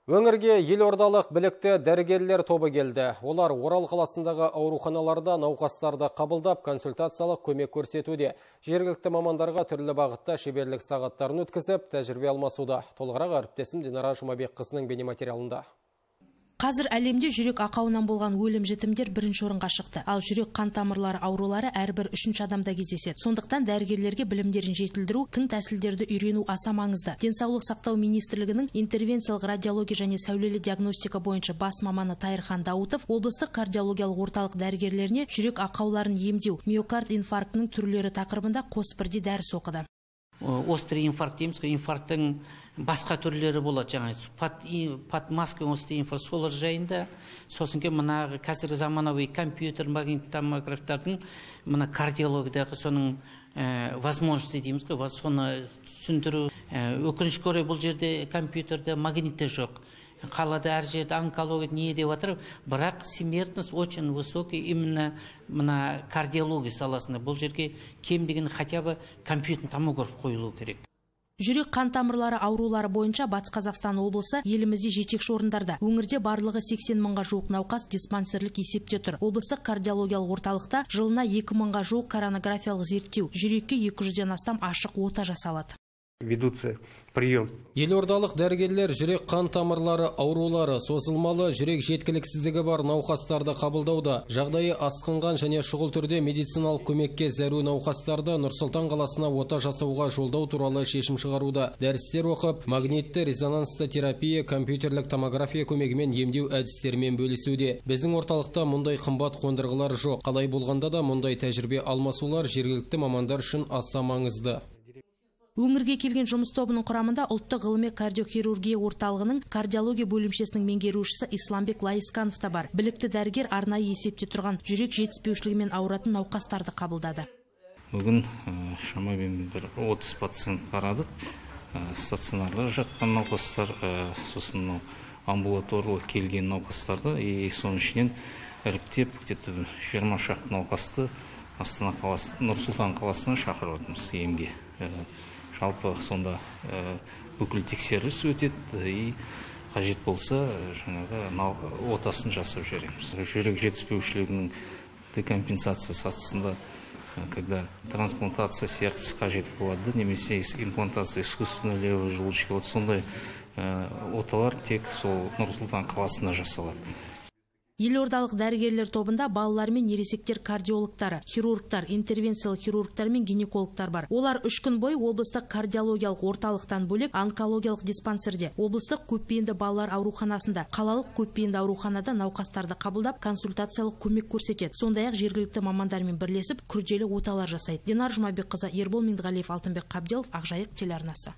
Өңірге елордалық білікті дәрігерлер тобы келді. Олар Орал қаласындағы ауруханаларда науқастарды қабылдап, консультациялық көмек көрсетуде. Жергілікті мамандарға түрлі бағытта шеберлік сағаттарын өткізіп, тәжірибе алмасуда. Толығырақ әріптесім Динара Жұмабекқызының бейнематериалында. Қазір әлемде жүрек ақауынан болған өлім жітімдер бірінші орынға шықты. Ал жүрек қан тамырлары аурулары әрбір үшінші адамда кездеседі. Сондықтан дәрігерлерге білімдерін жетілдіру, тың тәсілдерді үйрену аса маңызды. Денсаулық сақтау министрлігінің интервенциялық радиология және сәулелі диагностика бойынша бас маманы Тайырхан Даутов облыстық кардиологиялық орталық дәрігерлеріне жүрек ақауларын емдеу, миокард инфарктінің түрлері тақырыбында қос бірдей дәріс оқыды. Острый инфаркт дейміз, инфаркттың басқа түрлері болады, жаңа подмазка острый инфаркт солар жайында. Сосын ке мына қазір заманауи компьютер магнит томографтардың мына кардиологиядағы соның возможности дейміз, соны түсіндіру. Өкінішке орай бұл жерде компьютерде магнитте жоқ. Қалада әр жерде онкология не деп жатыр, бірақ смертность очень высокий именно мына кардиология саласында. Бұл жерге кем деген хотя бы компьютер томограф қойылу керек. Жүрек қан тамырлары аурулары бойынша Батыс Қазақстан облысы елімізде жетекші орындарда. Өңірде барлығы 80 мыңға жуық науқас диспансерлік есепте тұр. Облыстық кардиологиялық орталықта жылына 2 мыңға жуық коронографиялық зерттеу, жүрекке 200-ден астам ашық ота жасалады. Ведутся прием. Елордалық дәрігерлер жүрек қан тамырлары аурулары, созылмалы жүрек жеткіліксіздігі бар науқастарды қабылдауда. Жағдайы асқынған және шұғыл түрде медициналық көмекке зәру науқастарды Нұр-Сұлтан қаласына ота жасауға жолдау туралы шешім шығаруда. Дәрістер оқып, магнитті резонансты терапия, компьютерлік томография көмегімен емдеу әдістерімен бөлісуде. Біздің орталықта мұндай қымбат қондырғылар жоқ. Қалай болғанда да мұндай тәжірибе алмасулар жергілікті мамандар үшін аса маңызды. Өңірге келген жұмыс тобының құрамында ұлттық ғылыми кардиохирургия орталығының кардиология бөлімшесінің меңгерушісі Исламбек Лайысканов та бар. Білікті дәрігер арнайы есепте тұрған жүрек жетіспеушілігімен ауыратын науқастарды қабылдады. Бүгін шамамен бір 30 пациент қарадық. Стационарда жатқан науқастар, сосын амбулаторлық келген науқастарды, соның ішінен іріктеп, где-то 20 шақты науқасты Астана қаласы, Нұр-Сұлтан қаласына шақырып отырмыз емге. Жалпы сонда бүкіл тексеріс өтеді, қажет болса жаңағы отасын жасап жібереміз. Жүрек жетіспеушілігінің декомпенсация сатысында, когда трансплантация сердца қажет болады, немесе имплантация искусственной левой желудочки, вот сондай оталар тек сол Нұр-Сұлтан қаласында жасалады. Елордалық дәрігерлер тобында балалар мен ересектер кардиологтары, хирургтар, интервенциялық хирургтар мен гинекологтар бар. Олар 3 күн бойы облыстық кардиологиялық орталықтан бөлек онкологиялық диспансерде, облыстық көпбейінді балалар ауруханасында, қалалық көпбейінді ауруханада науқастарды қабылдап, консультациялық көмек көрсетеді. Сондай-ақ жергілікті мамандармен бірлесіп күрделі оталар жасайды. Динара Жұмабекқызы, Ербол Меңдіғалиев, Алтынбек Қабделов, Ақжайық телеарнасы.